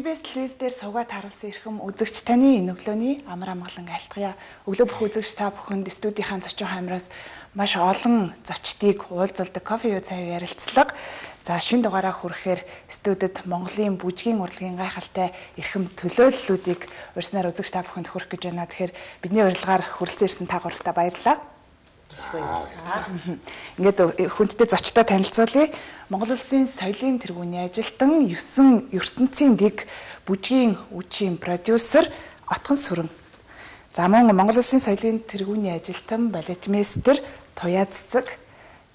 TBS телевиз дээр суугаад харуулсан эрхэм үзэгч таны энэ өглөөний амар амгалан айлтгая. Өглөө бүх үзэгч та бүхэнд студийнхаа зочин хамраас маш олон зочдыг уулзалдаг кофе юу цай ярилцлага. За шинэ дугаараа хүрэхээр студид Монголын бүжгийн урлагийн гайхалтай эрхэм төлөөллүүдийг урьснаар үзэгч та бүхэнд хүргэх гэж байна. Тэгэхээр бидний урилгаар хүрэлцэн ирсэн та гуравтаа баярлалаа. Ингээд хүндтэй зочдоо танилцуулъя. Монгол Улсын соёлын тэргүүний ажилтан 9 ертөнцийн дэг бүжгийн үчийн продюсер Отгон Сүрэн. За мөн Монгол Улсын соёлын тэргүүний ажилтан балетмейстер Туяа Цэцэг.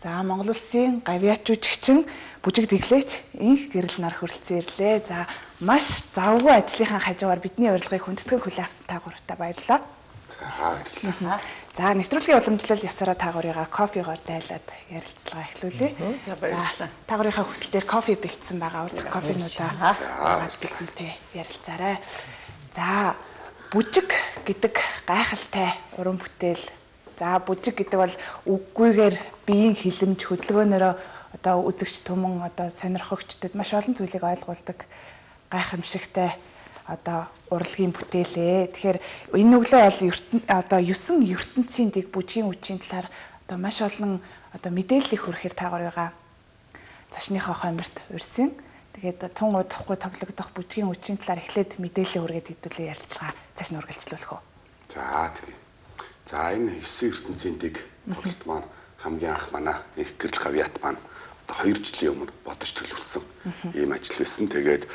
За Монгол Улсын гавьяач жүжигчин бүжиг дэглээч инх гэрэл нар хүрэлцэн ирлээ. За маш завгүй ажлынхаа хажуугаар бидний урилгыг хүндэтгэн хүлээн авсан та гуравтаа баярлалаа. За нэвтрүүлгийн уламжлал ясаараа та гурыгаа кофегоор дайлаад ярилцлага эхлүүлье. За та гурийнхаа хүсэлтээр кофе бэлдсэн байгаа. Кофенуудаа бүгдээ ярилцаарай. За бүжиг гэдэг гайхалтай уран бүтээл. За бүжиг гэдэг бол үггүйгээр биеийн хилэмж хөдөлгөөнөөрөө одоо үзэгч түмэн одоо сонирхогчдод маш олон зүйлийг ойлгуулдаг гайхамшигтай одоо урлагийн бүтээлээ. Тэгэхээр энэ өглөө бол одоо 9 ертөнцийн дэг бүжгийн үчийн талаар одоо маш олон одоо мэдээллийг хүргэхээр та гурыгаа цашныхаа хойморт урьсан. Тэгээд тун удахгүй тоглогдох бүжгийн үчийн талаар эхлээд мэдээлэл хүргээд хэдүүлээ ярилцлага цааш нь үргэлжлүүлэх үү. За тийм. За энэ 9 ертөнцийн дэг тоглолт маань хамгийн анх манай их гэрэл гавьяат маань одоо 2 жилийн өмнө бодож төлөвлөсөн ийм ажил байсан. Тэгээд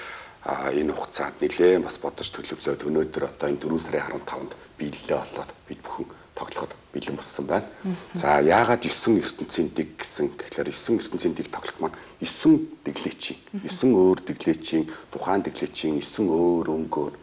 энэ хугацаанд нэлээд бас бодож төлөвлөөд өнөөдөр одоо энэ 4 сарын 15-нд биелэлээ болоод бид бүхэн тоглоход бэлэн болсон байна. За яагаад 9 ертөнцийн дэг гэсэн гэхээр 9 ертөнцийн дэг тоглолт маань 9 дэглээчийн 9 өөр дэглээчийн тухайн дэглээчийн 9 өөр өнгөөр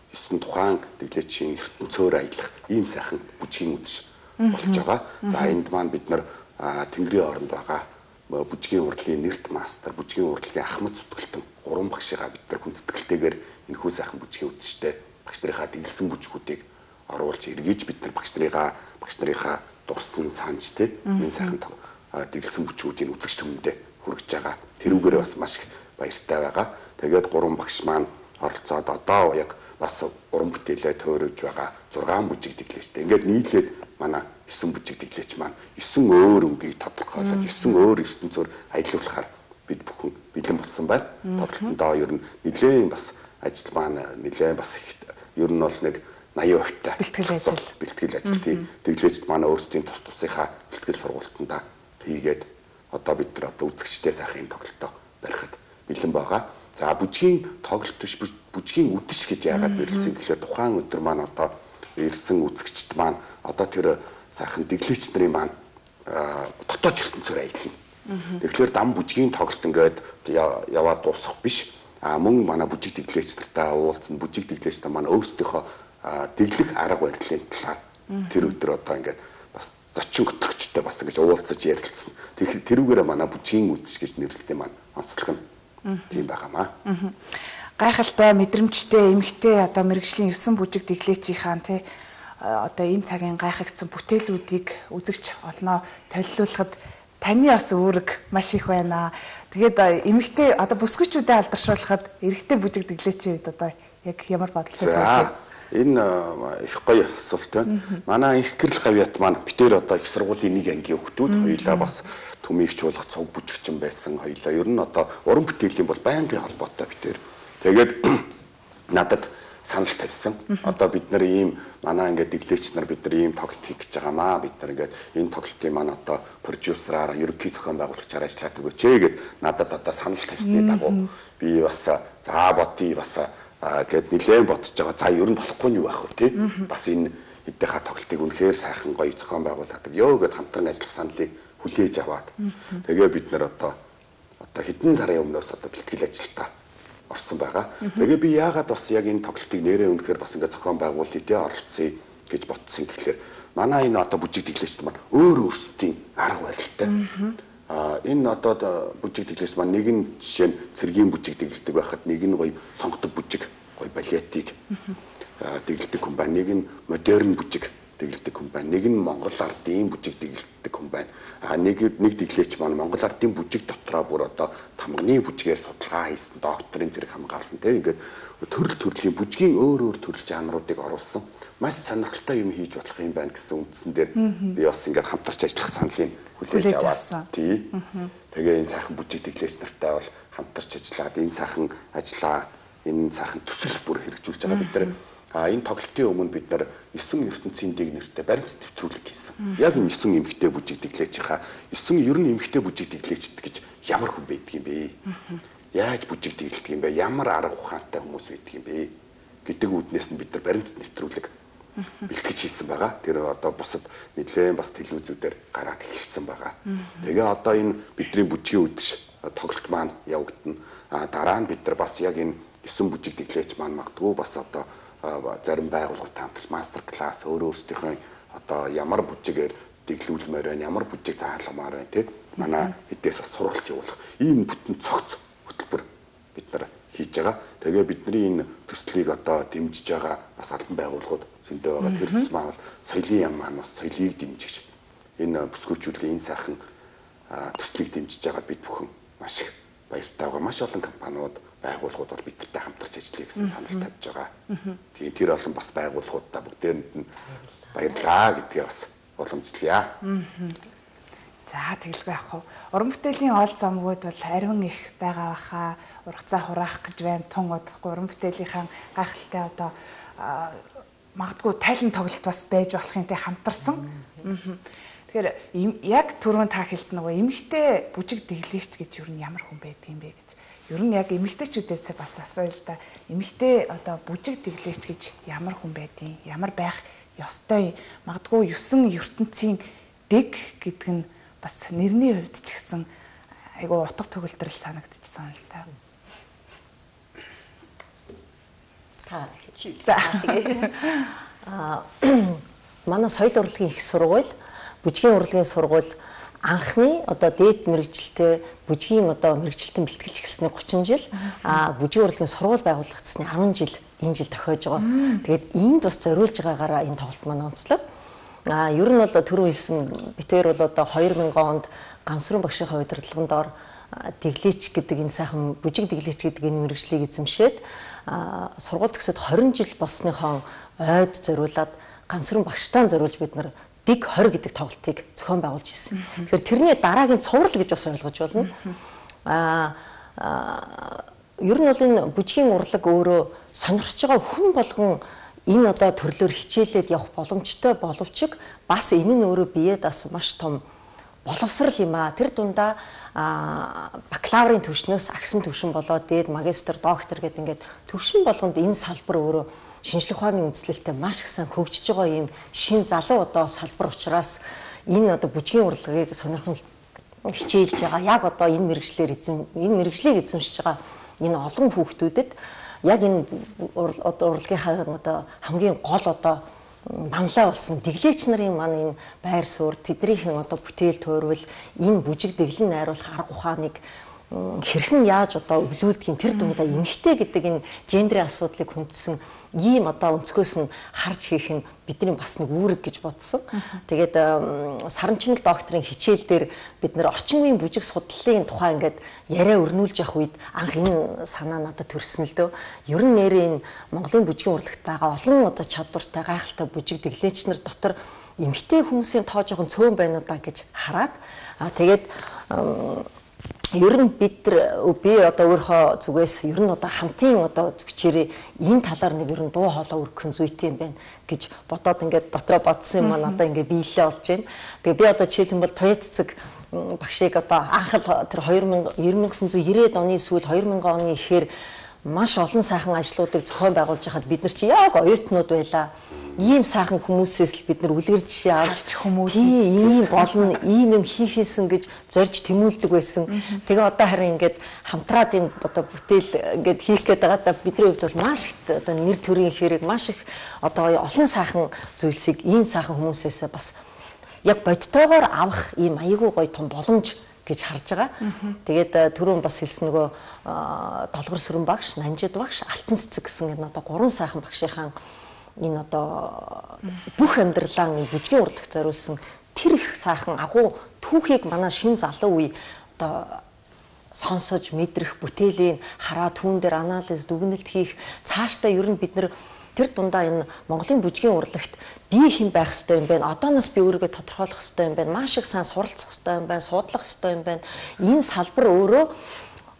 9 тухайн дэглээчийн ертөнцөөр аялах ийм сайхан бүжгийн үдшиж болж байгаа. За энд маань бид нар Тэнгэрийн оронд байгаа бүжгийн урлагийн нэрт мастер, бүжгийн урлагийн ахмад зүтгэлтэн 3 багшигаа бид нар хүндэтгэлтэйгээр энэхүү сайхан бүжгийн үдштэй багш нарынхаа дэглэсэн бүжгүүдийг оруулж эргэж бид нар багш нарынхаа дурсан санж энэ сайхан дэглэсэн бүжгүүдийн үзэгч түмэндээ хүргэж байгаа. Тэрүүгээрээ бас маш их баяртай байгаа. Тэгээд 3 багш маань оролцоод одоо яг бас уран бүтээлээ төөрөж байгаа 6 бүжиг дэглээчтэй. Ингээд нийлээд манай 9 бүжиг дэглээч маань 9 өөр өнгийг тодорхойлоод 9 өөр ертөнцөөр аялуулахаар бид бүхэн бэлэн болсон байна. Тоглолтондоо ер нь нэлээд бас ажил маань нэлээд бас ер нь бол нэг 80% бэлтгэл ажил тийм. Дэглээчд манай өөрсдийн тус тусынхаа бэлтгэл сургалтандаа хийгээд одоо бид нар одоо үзэгчтэй сайхан тоглолтоо барихад бэлэн байгаа. За бүжгийн тоглолт биш бүжгийн үдэш гэж яагаад нэрсэн гэхээр тухайн өдөр маань одоо ирсэн үзэгчд маань одоо тэр сайхан дэглээч нарын маань дотоод ертөнцөөр аялна. Тэгэхээр дам бүжгийн тоглолт ингээд яваад дуусах биш. Мөн манай бүжиг дэглээч нартай уулзсан бүжиг дэглээч нар маань өөрсдийнхөө дэглэх арга барилын талаар тэр өдөр одоо ингээд бас зочин готлогчтой бас ингэж уулзаж ярилцсан. Тэрүүгээрээ манай бүжгийн үдэш гэж нэрлэсэн маань онцлог нь тийм байгаамаа. Гайхалтай мэдрэмжтэй эмэгтэй одоо мэрэгжлийн 9 бүжиг дэглээчийн тий одоо энэ цагийн гайхагдсан бүтээлүүдийг үзэгч олноо толилуулахад таны бас үүрэг маш их байна. Тэгээд эмэгтэй одоо бүсгүйчүүдэд алдаршуулахад эрэгтэй бүжиг дэглээчийн үед одоо яг ямар бодлоо сууж энэ их гоё асуулт байна. Манай их гэрэл гавьяат маань битээр одоо их сургуулийн нэг ангийн хүүхдүүд хоёулаа бас төмийгч болох цуг бүжигчин байсан хоёулаа. Ер нь одоо уран бүтээлийн бол байнгын холбоотой битээр. Тэгээд надад санал тавьсан. Одоо бид нар ийм манай ингээд дэглээч нар бид нар ийм тоглолт хийх гэж байгаамаа. Бид нар ингээд энэ тоглолтын маань одоо продюсераар ерөнхий зохион байгуулагчаар ажиллаад өгөөч гэд надад одоо санал тавьсны дагуу би бас за бодъё бас гэд нэлээд бодож байгаа. За ер нь болохгүй юу байх вэ тий? Бас энэ эднийхээ тоглолтыг үнэхээр сайхан гоё зохион байгуулдаг ёо гэд хамтран ажиллах саналыг хүлээж аваад тэгээ бид нар одоо хэдэн сарын өмнөөс одоо бэлтгэл ажилтаа орсон байгаа. Тэгээ би яагаад бас яг энэ тоглолтыг нэрээ үнэхээр бас ингээд зохион байгуулъя тий оролцъё гэж ботсон гэхлээр манай энэ одоо бүжиг дэглээчд маань өөрсдийн арга барилтай. Энэ одоо бүжиг дэглээч маань нэг нь жишээ нь цэргийн бүжиг дэглэдэг байхад нэг нь гоё сонгодог бүжиг гоё балетик дэглэдэг хүн байна. Нэг нь модерн бүжиг тэгэлдэг хүн байна. Нэг нь Монгол ардын бүжиг тэгэлдэг хүн байна. Нэг тэглээч маань Монгол ардын бүжиг дотроо бүр одоо тамганы бүжгээр судалгаа хийсэн, докторийн зэрэг хамгаалсан тийм ингээд төрлийн бүжгийн өөр төрөл жанруудыг оруулсан. Маш сонирхолтой юм хийж болох юм байна гэсэн үндсэн дээр би бас ингээд хамтарч ажиллах саналыг хүлээж аваад тий. Тэгээ энэ сайхан бүжиг тэглээч нартай бол хамтарч ажиллаад энэ сайхан ажиллаа, энэ сайхан төсөл бүр хэрэгжүүлж байгаа бид нар. Энэ тоглолтын өмнө бид нар 9 ертөнцийн дэг нэртэй баримт нэвтрүүлэг хийсэн. Яг энэ 9 эмэгтэй бүжиг тэглээч хаа 9 ер нь эмэгтэй бүжиг тэглээчд гэж ямар хүн байдаг юм бэ? Яаж бүжиг тэглэдэг юм бэ? Ямар арга ухаантай хүмүүс байдаг юм бэ? Гэдэг үүднээс нь бид нар баримт нэвтрүүлэг бэлтгэж хийсэн байгаа. Тэр одоо бусад нэлээд бас телевизүүдээр гараад эхэлсэн байгаа. Тэгээ одоо энэ бидний бүжгийн үдэш тоглолт маань явагдана. Дараа нь бид нар бас яг энэ 9 бүжиг тэглээч маань магадгүй бас одоо зарим байгууллагуудтай хамтарч мастер класс өөрөөсдийнхөө одоо ямар бүжигээр дэглүүлмээр байна, ямар бүжиг заалгамаар байна тийм манай эдээс бас сургалт явуулах ийм бүтэн цогц хөтөлбөр бид нар хийж байгаа. Тэгээ бидний энэ төслийг одоо дэмжиж байгаа бас албан байгууллагууд зөндөө байгаа. Тэр төс маань соёлын яам маань бас соёлыг дэмжиж энэ бүсгүйчүүдийн энэ сайхан төслийг дэмжиж байгаа бид бүхэн маш их баяртай байгаа. Маш олон компаниуд, байгууллагууд бол бидэртэй хамтарч ажиллая гэсэн санал тавьж байгаа. Тэгээд тэр олон бас байгууллагуудаа бүгдээрэнд нь баярлаа гэдгээ бас уламжлая. За тэгэлгүй яах вэ? Уран бүтээлийн оол замгууд бол ариун их байгаа баха. Ургацаа хураах гэж байна. Тун удахгүй уран бүтээлийнхаа гайхалтай одоо магадгүй тайлан тоглолт бас байж болохын тэ хамтарсан. Тэгэхээр яг түрүүн та хэлсэн нөгөө эмэгтэй бүжиг тэглээч гэж юу нь ямар хүн байдаг юм бэ гэж. Ер нь яг эмэгтэйчүүдээс бас асууя л да. Эмэгтэй одоо бүжиг тэглээч гэж ямар хүн байдیں۔ Ямар байх ёстой. Магадгүй 9 ертөнцийн дэг гэдэг нь бас нэрний хувьд ч гэсэн айгуу утга төгөлдрөл санагдчихсан л та. За тэгээ манай соёл урлагийн их сургууль, бүжгийн урлагийн сургууль анхны одоо дээд мэрэгчлэлтэй бүжгийн одоо мэрэгчлэлтэн бэлтгэлч гэсний 30 жил бүжгийн урлагийн сургууль байгуулагдсны 10 жил энэ жил тохиож байгаа. Тэгээд энд бас зориулж байгаагаараа энэ тоглолт маань онцлог. Ер нь бол түрүү хэлсэн битээр бол одоо 2000 онд Гансүрэн багшийн удирдлагын доор тэглээч гэдэг энэ сайхан бүжиг тэглээч гэдэг энэ мэрэгчлийг эзэмшээд сургууль төгсөд 20 жил болсныхоо ойд зориулаад Гансүрэн багштай зориулж бид нар дэг 20 гэдэг тоглолтыг зохион байгуулж ирсэн. Тэгэхээр тэрний дараагийн цуврал гэж бас ойлгож болно. Ер нь бол энэ бүжгийн урлаг өөрөө сонирхож байгаа хүн болгон энэ одоо төрлөөр хичээлээд явах боломжтой боловч бас энэ нь өөрөө биед бас маш том боловсрал юм аа. Тэр дундаа бакалаврын түвшнээс агсан түвшин болоод дээд магистр, доктор гэдэг ингээд түвшин болгонд энэ салбар өөрөө шинжлэх ухааны үндэслэлтэй маш их сайн хөгжиж байгаа юм шин залуу одоо салбар учраас энэ одоо бүжгийн урлагийг сонирхон хичээлж байгаа. Яг одоо энэ мэрэгжлийг эзэмшиж байгаа энэ олон хүүхдүүдэд яг энэ урлагийнхаа одоо хамгийн гол одоо манлай болсон тэглээч нарын маань энэ байр суурь тэднийхэн одоо бүтээл туурвал энэ бүжиг дэглэн найруулах арга ухааныг хэрхэн яаж одоо өвлүүлдгийг тэр дундаа эмэгтэй гэдэг энэ гендрийн асуудлыг хүндсэн ийм одоо өнцгөөс нь харж хийх нь бидний бас нэг үүрэг гэж бодсон. Тэгээд Саранчмаг докторийн хичээл дээр бид нэр орчин үеийн бүжиг судлалын тухай ингээд яриа өрнүүлж явах үед анх энэ санаа надад төрсөн л дөө. Ер нь нэрээ энэ Монголын бүжгийн урлагт байгаа олон одоо чадвартай гайхалтай бүжиг тэглээч нар дотор эмэгтэй хүмүүсийн тоо жоохон цөөн байна уу даа гэж хараад тэгээд ер нь би одоо өөрийнхөө зүгээс ер нь одоо хамтын одоо бичээрээ энэ талаар нэг ер нь дуу хоолой өргөх зүйтэй юм байна гэж бодоод ингээд дотроо бодсон юм маань одоо ингээд биелээ болж байна. Тэгээ би одоо жишээлбэл бол Туяа цэцэг багшийг одоо анх л тэр 1990-ад оны сүүл 2000 оны ихээр маш олон сайхан ажлуудыг зохион байгуулж хахад бид нар чи яг оюутнууд байлаа. Ийм сайхан хүмүүсээс л бид нар үлгэр жишээ авч ийм болно, ийм юм хийхээсэн гэж зорж тэмүүлдэг байсан. Тэгээ одоо харин ингээд хамтраад энэ одоо бүтээл ингээд хийх гээд байгаадаа бидний хувьд бол маш их одоо нэр төрийн хэрэг маш их одоо олон сайхан зүйлсийг ийм сайхан хүмүүсээс бас яг бодтойгоор авах ийм аягүй гоё том боломж гэж харж байгаа. Тэгээд түрүүн бас хэлсэн нөгөө Долгор Сүрэн багш, Нанжид багш, Алтан цэцэг гэсэн энэ одоо 3 сайхан багшийнхаа энэ одоо бүх амьдралаа бүжгийн урлагт зориулсан тэр их сайхан агуу түүхийг манай шин залуу үе одоо сонсож мэдрэх, бүтээлийн хараа түүн дээр анализ, дүгнэлт хийх цаашдаа ер нь бид нэр тэр дундаа энэ Монголын бүжгийн урлагт би хэн байх ёстой юм бэ? Одооноос би өөрийгөө тодорхойлох ёстой юм байна. Маш их сайн суралцах ёстой юм байна, судлах ёстой юм байна. Энэ салбар өөрөө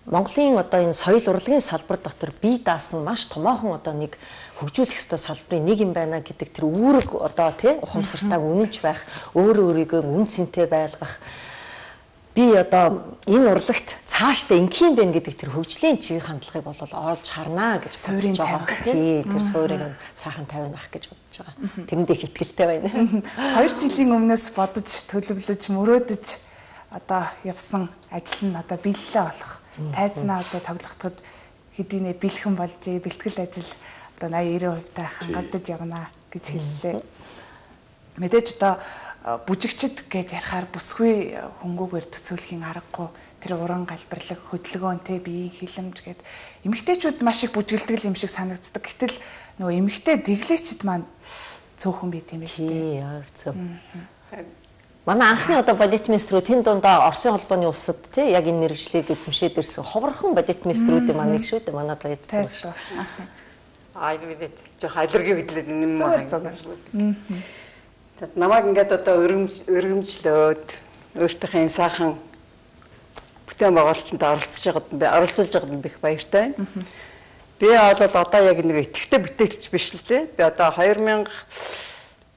Монголын одоо энэ соёл урлагийн салбар дотор бие даасан маш томоохон одоо нэг хөгжүүлэх ёстой салбарын нэг юм байна гэдэг тэр үүрэг одоо тий ухамсартайг үнэнч байх, өөрийгөө үн цэнтэй байлгах. Би одоо энэ урлагт цаашдаа ингэх юм байна гэдэг тэр хөгжлийн чиглэл хандлагыг бол олж харнаа гэж бодож байгаа. Тий, тэр суурийг сайхан тавина ах гэж бодож байгаа. Тэрэндээ их итгэлтэй байна. 2 жилийн өмнөөс бодож, төлөвлөж, мөрөөдөж одоо явсан ажил нь одоо биелэлээ болох. Тайзнаа одоо тоглохдод хэдийнэ бэлхэн болж, бэлтгэл ажил одоо 80-90% та хангагдаж явна гэж хэллээ. Мэдээж одоо бүжигчд гэд ярихаар бүсгүй хөнгүүгээр төсөөлхийн аргагүй тэр уран галбирлаг хөдөлгөөнтэй биеийн хилэмж гэд эмэгтэйчүүд маш их бүжгэлдэг юм шиг санагддаг. Гэтэл нөгөө эмэгтэй дэглээчд маань цөөхөн бий тийм ээ. Тий, яг зөв. Манай анхны одоо балетмейстрүүд тэн дундаа Оросын холбооны улсад тий яг энэ мэргэжлийг эзэмшээд ирсэн ховорхон балетмейстрүүдийн манай шүү дээ. Манайд л эзэмшсэн. Энэ бид жоох аллерги хөдлөд юм байна. Намайг ингээд одоо өргөмжлөөд өөртөөхөө энэ сайхан бүтээн байгуулалтанд оролцуулж байгаад би их баяртай байна. Би бол одоо яг нэг идэвхтэй бүтээлч биш л дээ. Би одоо 2005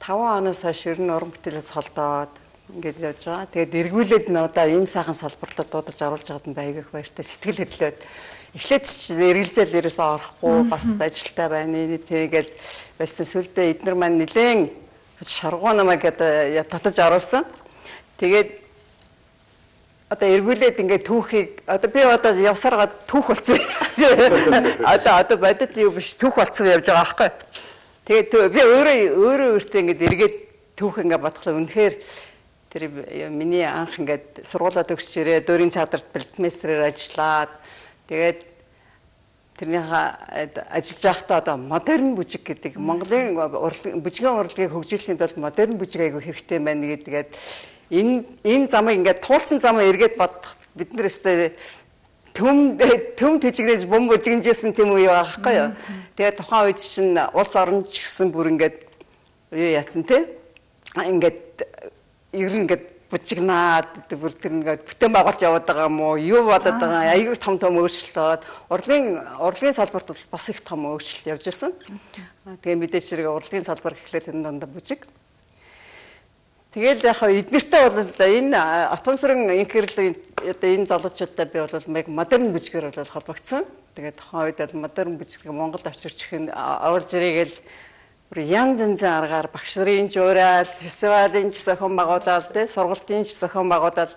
оноос хойш ер нь уран бүтээлээс холдоод ингээд явж байгаа. Тэгээд эргүүлээд н одоо энэ сайхан салбартад дуудаж оруулж байгаад нь байг их баяртай. Сэтгэл хөдлөөд эхлээд ч эргэлзээл ерөөсөө орохгүй бас ажилтаа байна. Тэгээд байсан сүлдээ эднэр маань нэлээд шаргуу намайг татаж оруулсан. Тэгээд одоо эргүүлээд ингээд түүхийг одоо би одоо явсараад түүх болсон. Одоо бодит юу биш түүх болсон явж байгаа байхгүй. Тэгээд би өөртөө ингээд эргээд түүх ингээд бодглоо. Үнэхээр тэр миний анх ингээд сургуулаа төгсч ирээ дөрийн цаадарт балетмейстрээр ажиллаад тэгээд тэрнийхээ ажиллаж байхдаа одоо модерн бүжиг гэдэг Монголын бүжгийн урлагийг хөгжүүлэхэд бол модерн бүжиг айгүй хэрэгтэй байна гэдгээд энэ замыг ингээд туулсан замаа эргээд бодох бид нар өстэй төм төжигнэж бом бүжигнжсэн тийм үе байгаа байхгүй юу. Тэгээд тухайн үед чинь улс орон ч гэсэн бүр ингээд юу яатсан те ингээд ер нь ингээд бүжигнаад бүр тэр ингээд бүтээн байгуулж яваад байгаа юм уу? Юу болоод байгаа? Аюу том өөрчлөлт болоод урлагийн салбарт бол бас их том өөрчлөлт явж байсан. Тэгээ мэдээж хэрэг урлагийн салбар гэхлээр энэ дондоо бүжиг. Тэгэл яг эднэртэй бол энэ отон сүрэн инхэрл одоо энэ залуучуудтай би бол яг модерн бүжгээр бол холбогдсон. Тэгээд тухайн үед бол модерн бүжиг Монголд авчирч ихэн аварж ирээгээл янз янзын аргаар багш нарын жуурал, фестивалийн зохион байгуулалт, сургалтын зохион байгуулалт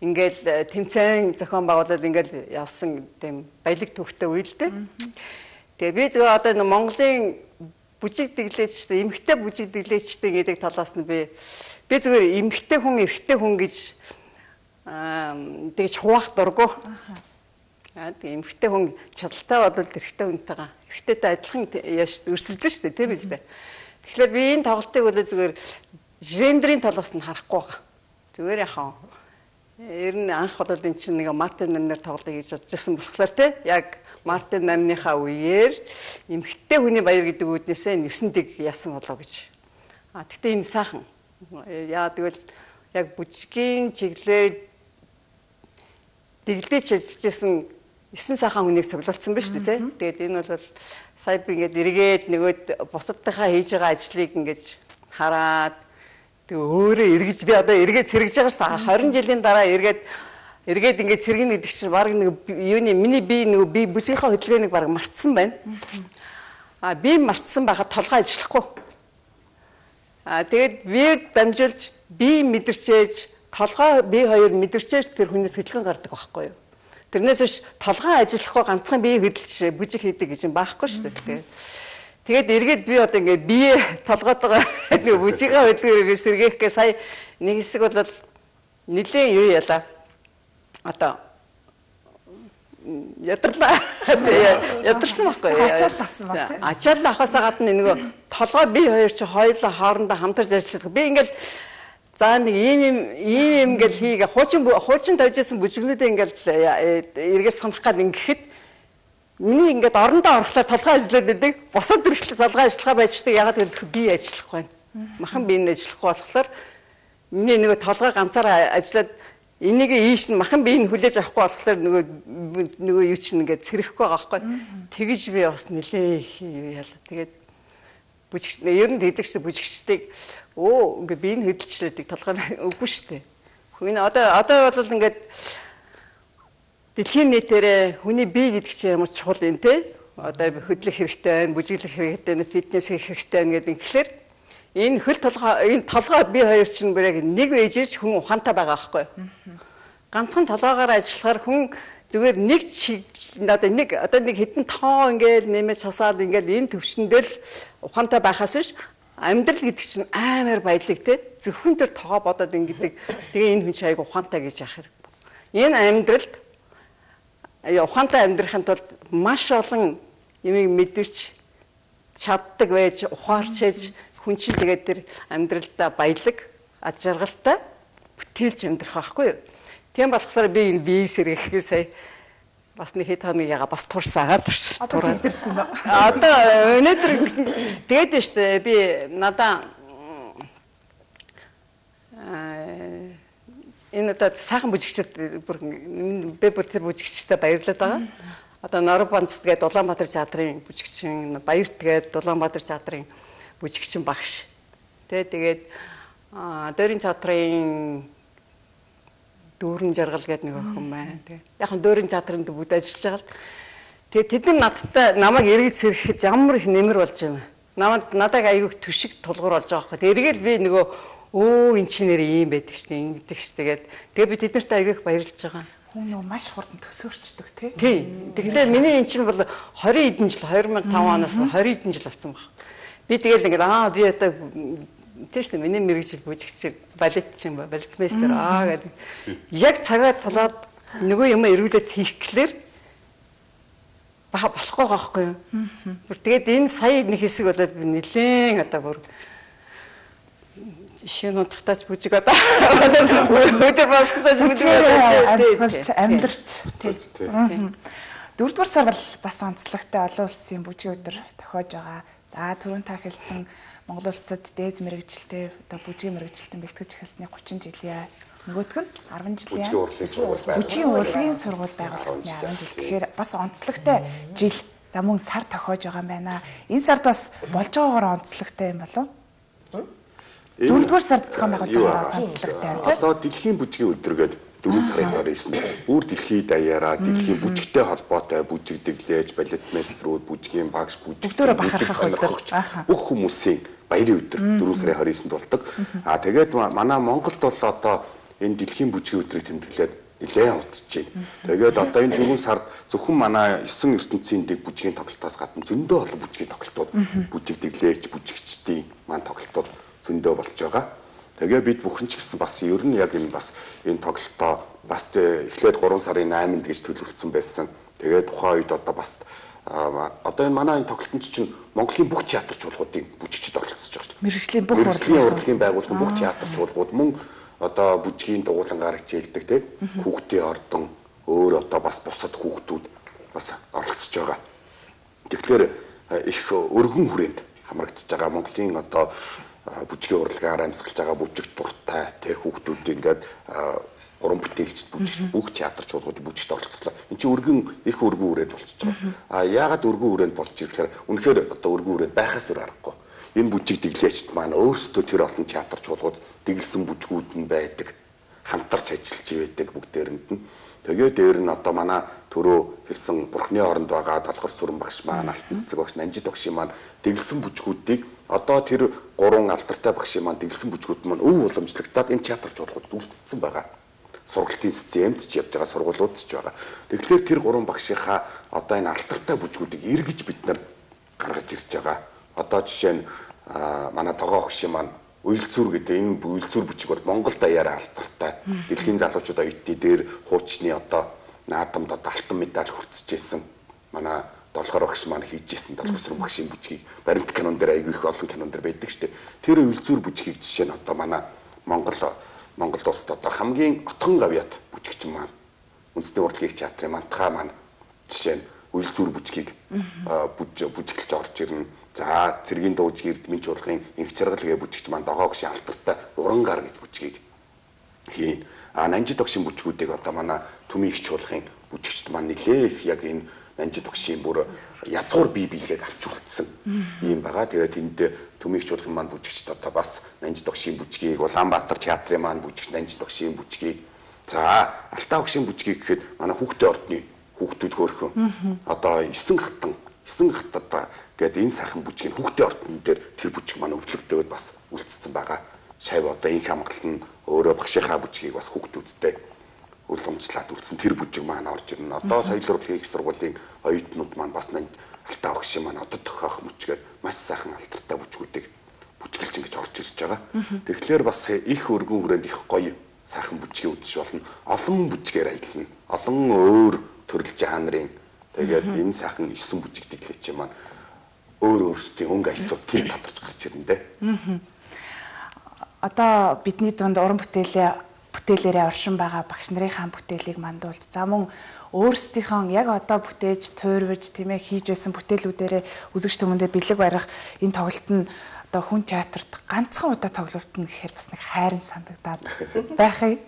ингээл тэмцээн зохион байгуулалт ингээл явсан тийм баялаг төвхтэй үйл дээ. Тэгээ би зөв одоо Монголын бүжиг дэглээчтэй, эмэгтэй бүжиг дэглээчтэй гэдэг талаас нь би зүгээр эмэгтэй хүн, эрэгтэй хүн гэж тэгж хуваах дурггүй. Тэгээ эмэгтэй хүн чадaltaй бодвол эрэгтэй хүнтэйгээ эрэгтэйтэй адилхан өрсөлдөн шүү дээ тийм биз дээ. Тэгэхээр би энэ тоглолтыг бол зүгээр гендрийн талаас нь харахгүй байгаа. Зүгээр яхаа. Ер нь анх бол энэ чинь нэг Мартин Нарнер тоглолтыг хийж бодчихсон болохоор тийм яг Мартин Нарныхаа үеэр эмэгтэй хүний баяр гэдэг үүднээсээ 9-ийг яасан болоо гэж. Гэхдээ энэ сайхан. Яа тэгвэл яг бүжгийн чиглэлээр дэглэж ажиллаж исэн 9 сайхан хүнийг цуглуулсан ба шүү дээ. Тэгээд энэ бол сая би ингээд эргээд нөгөөд бусадтайхаа хийж байгаа ажлыг ингээд хараад тэг өөрөө эргэж би одоо эргээд сэргэж байгаа шүү дээ. 20 жилийн дараа эргээд ингээд сэргэн гэдэг чинь баг нэг юуны миний би бүжгийнхаа хөдөлгөөнийг баг мартсан байна. Би мартсан байхад толгой ажиллахгүй. Тэгээд би дамжуулж би мэдэрчээж толгой би хоёр мэдэрчээж тэр хүнээс хөдөлгөөн гардаг байхгүй юу? Тэрнээс биш толгой ажиллахгүй ганцхан бие хөдөлж бүжиг хийдэг гэж юм байхгүй шүү дээ. Тэгээд эргээд би одоо ингээд бие толгоотойгоо нэг бүжигээ хөдөлгөөрөө сэргээхгээ сая нэг хэсэг бол нэлээд юу яла. Одоо ядарлаа. Ядарсан байхгүй. Ачаал авсан баг тийм. Ачаал авахаас гадна нөгөө толгой би хоёр чи хоёулаа хоорондоо хамтарч ажиллах. Би ингээл за нэг ийм ингээл хийгээ хуучин тавьжсэн бүжгнүүдээ ингээл эргээс санах гал ингэхэд миний ингээд орондоо орохлоор толгой ажиллаад байдаг. Бусад хэрэглээ толгой ажиллахаа байждаг. Ягаад гэвэл би ажиллахгүй байна. Махан би энэ ажиллахгүй болохоор миний нөгөө толгой ганцаараа ажиллаад энийг ийш нь махан би энэ хүлээж авахгүй болохоор нөгөө юу чинь ингээд цэрэхгүй байгаа байхгүй. Тэгэж би бас нилээ яла. Тэгээд бүжигч ер нь хэдэгч бүжигчдийг ингээд би энэ хөдөлчлээдэг толгой үгүй шүү дээ. Хүн одоо бол ингээд дэлхийн нийтээрээ хүний бие гэдэг чинь ямар чухал юм те. Одоо хөдлөх хэрэгтэй байна, бүжиглэх хэрэгтэй байна, фитнес хийх хэрэгтэй байна гэдэг. Тэгэхээр энэ толгой би хоёр чинь бүрээ нэг ээжээс хүн ухаантай байгаа байхгүй. Ганцхан толгоогоор ажиллахаар хүн зүгээр нэг одоо нэг хэдэн тоо ингээл нэмэж хасаад ингээл энэ төвшөндөө л ухаантай байхаас биш амьдрал гэдэг чинь амар баялаг те. Зөвхөн тэр тоогоо бодоод ингэдэг. Тэгээ энэ хүн чинь айгу ухаантай гэж яах хэрэг. Энэ амьдралд ухаантай амьдрахын тулд маш олон юмыг мэдэрч чаддаг байж ухаарч ээж хүн чинь тэгээд тэр амьдралдаа баялаг аж жаргалтай бүтээлж амьдрах байхгүй юу. Тийм болохоор би энэ бие сэргэхээ сая бас нэг хэд хоног яга бас турсан турш. Одоо төвдөрсөн ба. Одоо өнөөдөр ингэсэн тэгээд нь штэ би надаа энэ одоо сайхан бүжигчд бүр би бүр тэр бүжигчтэй баярлаад байгаа. Одоо Норбанц тэгээд Улаанбаатар театрын бүжигчин, Баярт тэгээд Улаанбаатар театрын бүжигчин багш. Тэгээд Дөрийн театрын дүүрэн жаргал гэдэг нэг охин байна. Тэгээд яг нь Дөрийн театрынд бүгд ажиллаж байгаа л. Тэгээд тэд надтай намайг эргэж сэрхэхэд ямар их нэмэр болж байна. Надад аягүй түшиг тулгуур болж байгаа байхгүй. Эргээл би нөгөө энэ чинээр ийм байдаг шнэ ингэдэг ш. Тэгээд би тэднэрт аягүй баярлж байгаа. Хүн нөгөө маш хурдан төсөөрчдөг тий. Тэгэхээр миний эн чинь бол 20 хэдэн жил 2005 оноос 20 хэдэн жил болсон баг. Би тэгэл ингээд би одоо тийш миний мэрэгжил бүжигч балетмейстер гэдэг. Яг цагаа тулаад нөгөө юм эргүүлээд хийх гэхлээр болохгүй байхгүй юу. Тэгээд энэ сая нэг хэсэг болоод би нэлээд одоо бүр шинэ утгатаач бүжиг одоо өдөр басгатаач бүжиг амьдарч тийж. Дөрөвдүгээр сар бол бас онцлогтой олон улсын бүжгийн өдөр тохиож байгаа. За түрүүн та хэлсэн Монгол улсад дээд мэрэгжилтэй одоо бүжгийн мэрэгжилтэн бэлтгэж эхэлсний 30 жилийн нөгөөх нь 10 жилийн бүжгийн урлагийн сургууль байгуулагдсны 10 жил. Тэгэхээр бас онцлогтой жил. За мөн сар тохиож байгаа юм байна. Энэ сард бас болж байгаагаар онцлогтой юм болов уу? Дөрөвдүгээр сард зохион байгуулж байгаа онцлогтой юм. Одоо дэлхийн бүжгийн өдөр гэдэг 4 сарын 29-нд бүр дэлхийд даяараа дэлхийн бүжигтэй холбоотой бүжигдэглэж, балетмейстрүүд, бүжгийн багш, бүжигчдөө бахархах өдөр. Бүх хүмүүсийн баярын өдөр 4 сарын 29-нд болдог. Тэгээд манай Монголд бол одоо энэ дэлхийн бүжгийн өдрийг тэмдэглээд нэлээд удаж байна. Тэгээд одоо энэ 4 сард зөвхөн манай 9 ертөнцийн дэг бүжгийн тоглолтоос гадна зөндөө олон бүжгийн тоглолтууд, бүжигдэглэж, бүжигчдийн маань тоглолтууд зөндөө болж байгаа. Тэгээ бид бүхэн ч гэсэн бас ер нь яг энэ бас энэ тоглолтоо бас эхлээд 3 сарын 8-нд гэж төлөвлөсөн байсан. Тэгээд тухайн үед одоо бас одоо энэ манай энэ тоглолтод чинь Монголын бүх театр чуулгуудын бүжигчид оролцож байгаа шүү дээ. Мэргэжлийн бүх урлагийн байгууллагын бүх театр чуулгууд мөн одоо бүжгийн дугуулангаар хичээлдэг тийм хүүхдийн ордон өөр одоо бас бусад хүүхдүүд бас оролцож байгаа. Тэгэхээр их өргөн хүрээнд хамрагдаж байгаа Монголын одоо бүжгийн урлагаар амьсгалж байгаа бүжиг дуртай тэг хүүхдүүд ингээд уран бүтээлчд бүжигч бүх театр чуулгуудын бүжигт оролцлоо. Энд чинь их өргөн үрээд болчихж байгаа. Яагаад өргөн үрээнд болж ирэхээр үнэхээр одоо өргөн үрээнд байхаас өөр аргагүй. Энэ бүжиг дэглэгчд маань өөрсдөө тэр олон театр чуулгууд дэглэсэн бүжгүүд нь байдаг. Хамтарч ажиллаж байдаг бүгдээрэнд нь. Тэгээ дээр нь одоо манай түрүү хэлсэн Бурхны хооронд байгаа Толгор сүрэн багш маань, Алтан цэцэг багш, Нанжид багшийн маань дэглэсэн бүжгүүдийг одоо тэр 3 алдартай багшийн маань дэглэсэн бүжгүүд маань өв уламжлагтаад энэ театр чуулгуудад үлдсэн байгаа. Сургалтын системд ч явж байгаа сургуулиуд ч байгаа. Тэгэхээр тэр 3 багшийнхаа одоо энэ алдартай бүжгүүдийг эргэж бид нар гаргаж ирж байгаа. Одоо жишээ нь манай Тогоо багшийн маань Уйлцүр гэдэг энэ Уйлцүр бүжиг бол Монгол даяараа алдартай. Дэлхийн залуучууд оюутны дээр хуучны одоо наадамд одоо алтан медаль хүртсэжсэн. Манай долгор багш маань хийжсэн долгор сүрэн багшийн бүжгийг баримт кинон дээр айгүй их олон кинон дээр байдаг шүү дээ. Тэр үйлзүүр бүжгийг жишээ нь одоо манай Монгол улсад одоо хамгийн отхон гавьяат бүжигч маань үндэсний урлагийн театрын Мантхаа маань жишээ нь үйлзүүр бүжгийг бүжиглэж орж ирнэ. За цэргийн дуужиг Эрдмийн чуулгын инх чаргалгээ бүжигч маань Догоо гişin алтартай уран гар гэж бүжгийг хийн. Нанжид огшин бүжгүүдийг одоо манай Түмийн их чуулгын бүжигчд маань нэлээх яг энэ Нанжид огшин бүр язгуур бие биеийг авч үлдсэн юм байгаа. Тэгээд энд Түмийн их чуулгын маань бүжигчд одоо бас Нанжид огшин бүжгийг, Улаанбаатар театрын маань бүжигч Нанжид огшин бүжгийг, за Алтаа огшин бүжгийг гэхэд манай хүүхдийн ордны хүүхдүүд хөөрхөн одоо 9 хатад гэдэг энэ сайхан бүжгийн хүүхдийн ордон дээр тэр бүжиг маань өвлөгдөөд бас үлдсэн байгаа. Шав одоо инх хамгаалт нь өөрөө багшийнхаа бүжгийг бас хүүхдүүдтэй уламжлаад үлдсэн тэр бүжиг маань орж ирнэ. Одоо соёл урлагийн их сургуулийн оюутнууд маань бас Алтаа огшин маань одоо тохиох мөчгээд маш сайхан алтартай бүжгүүдийг бүжгэлж ингэж орж ирж байгаа. Тэгэхээр бас их өргөн хүрээнд их гоё сайхан бүжгийг үзэж болно. Олон бүжгээр аялна. Олон өөр төрөл жанрын тэгээд энэ сайхан 9 бүжиг дэглэж маань өөрсдийн өнгө аясууд тэр тодорч гарч ирнэ дээ. Одоо бидний дунд уран бүтээлээрээ оршин байгаа багш нарын бүтээлийг мандуулж за мөн өөрсдийнхөө яг одоо бүтээж туйрвж тийм ээ хийж байсан бүтээлүүдээрээ үзэгч түмэндээ бэлэг барих энэ тоглолт нь одоо хүн театрт ганцхан удаа тоглолт нь гэхээр бас нэг хайрын санагдаад байхыг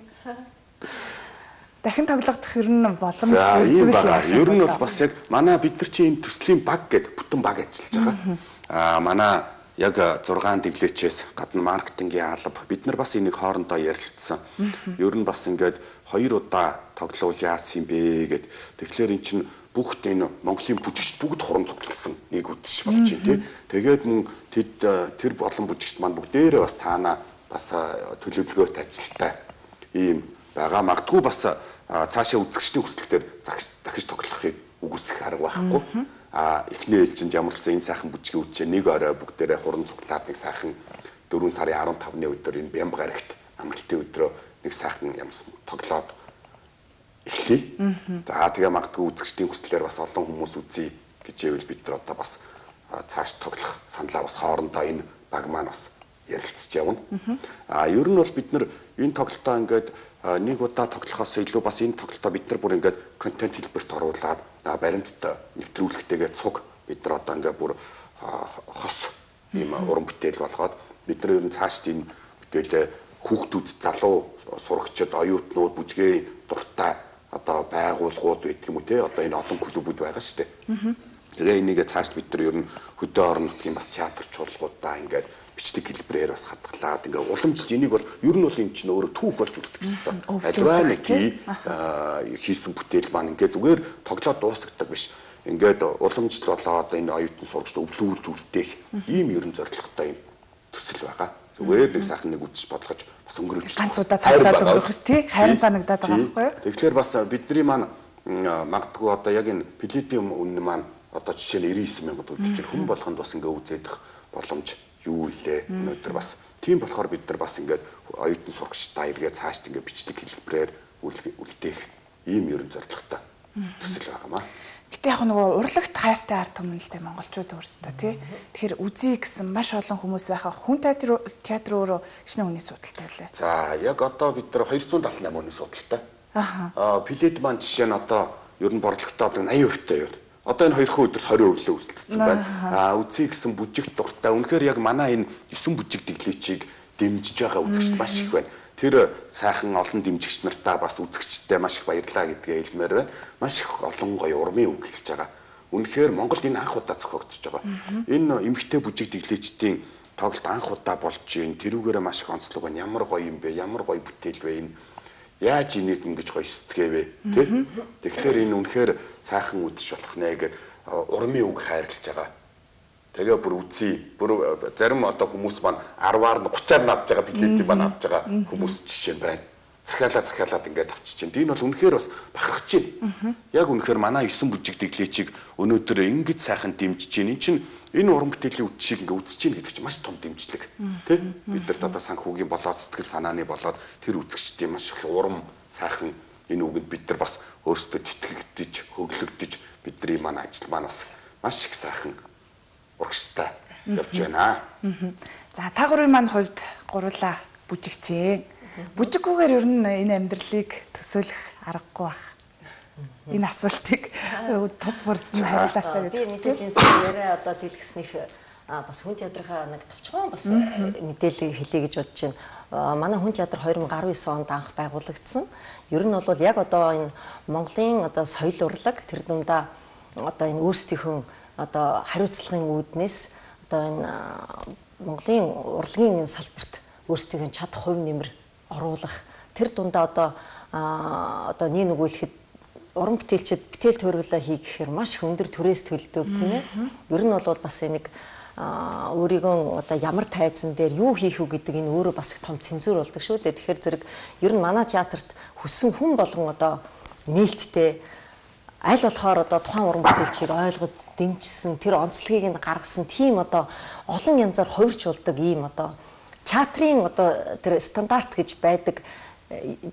дахин тоглох ер нь боломж ийм байгаа. Ер нь бол бас яг манай бид нар чинь энэ төслийн баг гэдэг бүтэн баг ажиллаж байгаа. Манай яг 6 дэглээчээс гадна маркетингийн алба бид нар бас энийг хоорондоо ярилцсан. Ер нь бас ингээд 2 удаа тоглоул яасан юм бэ гэд. Тэгэхээр эн чинь бүгд энэ Монголын бүжигч бүгд хуран цугласан нэг үдшиж болж байна тий. Тэгээд мөн тэр болон бүжигчд маань бүгдээрээ бас цаана бас төлөвлөгөөт ажилтай ийм байгаа. Магадгүй бас цаашаа үзэгчдийн хүсэлтээр дахиж тоглохыг үгүйсэх арга байхгүй. Эхний ээлжинд ямарсан энэ сайхан бүжгийн үчээ нэг орой бүгдээрээ хуран цуглаад нэг сайхан 4 сарын 15-ны өдөр энэ Бямб гарагт амралтын өдрөө нэг сайхан ямарсан тоглоод эхлэе. За тэгээ магадгүй үзэгчдийн хүслээр бас олон хүмүүс үзье гэж ивэл бид нар одоо бас цааш тоглох саналаа бас хоорондоо энэ баг маань бас ярилцж явна. Ер нь бол бид нар энэ тоглолтоо ингээд нэг удаа тоглохоос илүү бас энэ тоглолтоо бид нар бүр ингээд контент хэлбэрт оруулаад баримтд нэвтрүүлэхтэйгээ цуг бид нар одоо ингээд бүр хос ийм уран бүтээл болгоод бид нар ер нь цаашд энэ бүтээлээ хүүхдүүд залуу сурагчид оюутнууд бүжгээ дуртай одоо байгууллагууд байдаг юм уу те одоо энэ олон клубүүд байгаа шүү дээ. Тэгээ энийг цаашд бид нар ер нь хөдөө орон нутгийн бас театр чуулгуудаа ингээд бичдэг хэлбэрээр бас хадгалаад ингээ уламжилж энийг бол ер нь бол энэ чинь өөрөө түүх болж үлдэх гэсэн. Альваа нэг хийсэн бүтээл маань ингээ зүгээр тоглоод дуусгдаг биш. Ингээд уламжлал болоод энэ оюутан сурагчд өвлүүлж үлдээх ийм ерөн зорилготой юм төсөл байгаа. Зүгээр нэг сайхан нэг үзэж бодлогож бас өнгөрүүлж ганц удаа тоглоод өнгөрөх тий хайрын санагдаад байгаа байхгүй юу? Тэгэхээр бас бидний маань магадгүй одоо яг энэ платинум үнэ маань одоо жишээ нь 99 мянгад үлдэж хүн болгонд бас ингээ үзэдэх боломж юу илээ өнөөдөр бас тийм болохоор бид нар бас ингээд оюутан сурагчдаа эргээ цаашд ингээд бичдэг хэлбэрээр үлдээх ийм ерөн зорилготой төсөл байгаамаа. Гэтэ яг нөгөө урлагт хайртай ард түмнэлтэй монголчууд өөрсдөө тий. Тэгэхээр үзье гэсэн маш олон хүмүүс байхаа хүн театр өөрөө шинэ хүний судалтай байлаа. За яг одоо бид нар 278 хүний судалтай. Плед маань жишээ нь одоо ер нь борлогтой одоо 80% таа юу. Одоо энэ 2 өдөрс 20% үлдсэн байна. Үзье гэсэн бүжигт дуртай. Үнэхээр яг манай энэ 9 бүжиг дэглээчийг дэмжиж байгаа үзэгчд маш их байна. Тэр сайхан олон дэмжигч нартаа бас үзэгчдтэй маш их баярлаа гэдгээ хэлмээр байна. Маш их олон гоё урмын үг хэлж байгаа. Үнэхээр Монголд энэ анх удаа зохиогдож байгаа. Энэ эмэгтэй бүжиг дэглээчдийн тоглолт анх удаа болж байна. Тэрүүгээрээ маш их онцлог байна. Ямар гоё юм бэ? Ямар гоё бүтээл вэ энэ? Яаж энийг ингэж гоё сэтгэвэ тий? Тэгэхээр энэ үнэхээр сайхан үзэж болох нэ гэж урмын үг хайрлаж байгаа. Тэгээ бүр үзье. Бүр зарим одоо хүмүүс маань 10-аар нь 30-аар нь авч байгаа билетийг маань авч байгаа хүмүүс жишээ байна. Захиалаад ингээд авчиж чинь. Энэ бол үнэхээр бас бахархаж байна. Яг үнэхээр манай 9 бүжиг дэглээчийг өнөөдөр ингэж сайхан дэмжиж чинь. Энэ чинь энэ уран бүтээлийн үдшийг ингээд үзэж чинь гэдэг чинь маш том дэмжлэг. Тэ? Бид нарт одоо санхүүгийн болоод сэтгэл санааны болоод тэр үзэгчдийн маш их урам сайхан Энэ үгэнд бид нар бас өөрсдөө тэтгэгдэж, хөглөгдөж бидний маань ажил маань бас маш их сайхан урагштай явж байна. За та гурвын маань хувьд гурлаа бүжигчээ. Бүжиггүйгээр ер нь энэ амьдралыг төсөөлөх аргагүй байх. Энэ асуултыг тус бүрдэн хариулаасаа гэж. Би мэдээж энэ яриа одоо дэлгэснийх бас хүн театрынхаа нэг товчхон бас мэдээлэл хэлье гэж бодож байна. Манай хүн театр 2019 онд анх байгуулагдсан. Ер нь бол яг одоо энэ Монголын одоо соёл урлаг тэр дундаа одоо энэ өөрсдийнхөө одоо хариуцлагын үүднээс одоо энэ Монголын урлагийн энэ салбарт өөрсдийн чадах хувь нэмэр оруулах тэр дундаа одоо нэг өгүүлэхэд уран бүтээлчд бүтээл төрөлөө хий гэхээр маш их өндөр төрөөс төлдөг тийм ээ. Ер нь бол бас нэг өөрийгөө одоо ямар тайзан дээр юу хийх үү гэдэг энэ өөрөө бас их том цензур болдог шүү дээ. Тэгэхээр зэрэг ер нь манай театрт хүссэн хүн болгон одоо нээлттэй аль болохоор одоо тухайн уран бүтээлчийг ойлгож дэмжсэн тэр онцлогийг нь гаргасан тийм одоо олон янзаар хувирчулдаг ийм одоо театрын одоо тэр стандарт гэж байдаг